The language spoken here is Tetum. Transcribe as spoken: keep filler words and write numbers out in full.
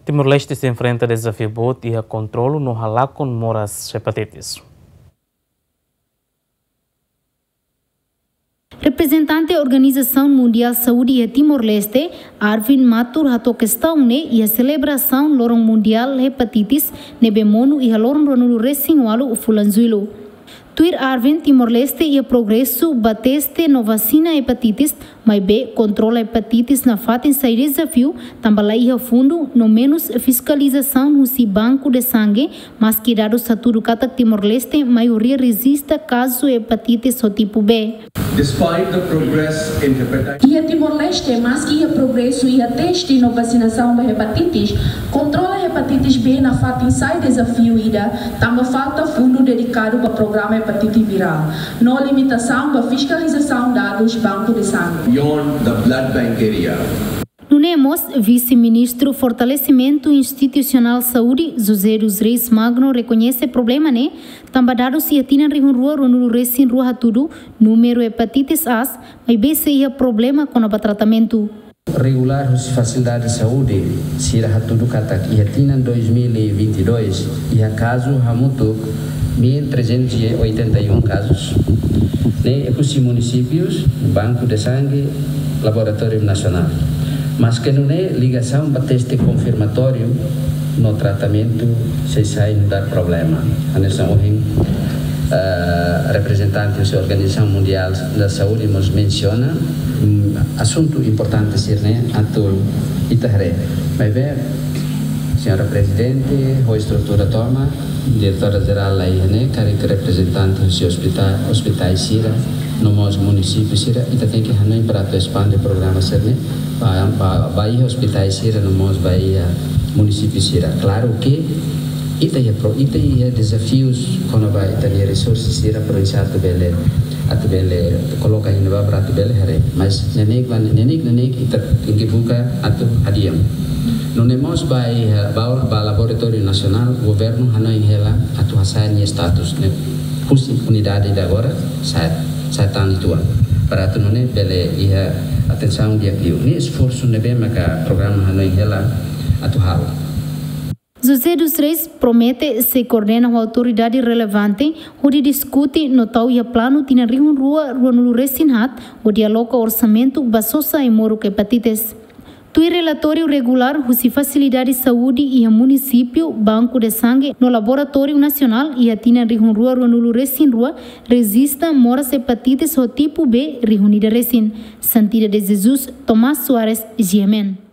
Timor-Leste sei enfrenta dezafiu boot iha kontrolu no halakon moras hepatitis. Reprezentante Organizasaun Mundiál Saúde iha Timor-Leste, Arvind Mathur, hato'o kestaun ne'e iha selebrasaun Loron Mundiál Hepatitis ne'ebé monu iha loron ruanulu resin ualu fulan Jullu. Tuir Arvind, Timor-Leste iha progresu ba teste no vasina hepatitis, maibé kontrola hepatitis nafatin sai dezafiu, tanba la iha fundu no menus fiskalizasaun husi banku de sangue, maski dadus hatudu katak Timor-Leste maioria rejista kazu hepatitis ho tipu B. Despite the progress in hepatitis. Iha Timor-Leste, maski iha progresu iha teste no vasinasaun ba hepatitis, kontrola hepatitis B nafatin sai dezafiu ida, tanba falta fundu dedikadu ba programa hepatite virál, no limitasaun ba fiskalizasaun dadus banku de sangue. Beyond the blood bank area. Nune'e mós, Vise-Ministru Fortalesimentu Institusionál Saúde, José dos Reis Magno, rekoñese problema ne'e, tanba dadus iha tinan rihun rua ruanulu resin rua hatudu, númeru hepatitis A, maibé sei iha problema kona-ba tratamentu. Regulár husi fasilidade saúde sira hatudu katak iha tinan dois mil e vinte e dois, iha kazu hamutuk mil trezentos e oitenta e um kazus. Ne'e husi munisípius, banku de sangue, laboratóriu nasionál. Maske nune'e, ligasaun ba teste konfirmatóriu no tratamentu sei sai nu'udar problema. Hanesan ohin, eh, reprezentante husi Organizasaun Mundiál da Saúde mós mensiona, mm, asuntu importante sira-ne'e atu ita haree. Maibé, Señora Prezidente, ho estrutura tomak, Diretora Jerál la iha ne'e, karik reprezentante husi ospita-, ospitais sira, no mós munisípiu sira, ita tenke hanoin para atu espande programa sira-ne'e ba, ba, ba iha ospitais sira, no mós ba iha munisípiu sira. Klaru ke ita iha pro-, ita iha dezafius kona-ba ita-nia resursu sira, para atu bele, atu bele koloka iha ne'ebá para atu bele haree. Mas neineik ba, neineik, neineik ita tenke buka atu hadi'a. Nune'e mós ba iha, ba, ba laboratóriu nasionál, governu hanoin hela atu hasa'e nia status ne'e husi unidade ida agora, sa'e, sa'e tan uitoan. Para atu nune'e bele iha atensaun di'ak liu. Ne'e esforsu ne'ebé maka programa hanoin hela atu halo. José dos Reis promete sei koordena ho autoridade relevante hodi diskute no tau iha planu tinan rihun rua ruanulu resin haat hodi aloka orsamentu ba sosa ai-moruk hepatitis. Tuir relatóriu regulár husi fasilidade saúde iha munisípiu, banku de sangue no laboratóriu nasionál, iha tinan rihun rua ruanulu resin rua rejista moras hepatitis ho tipu B rihun ida resin. Santida de Jesus, Tomás Soares, G M N.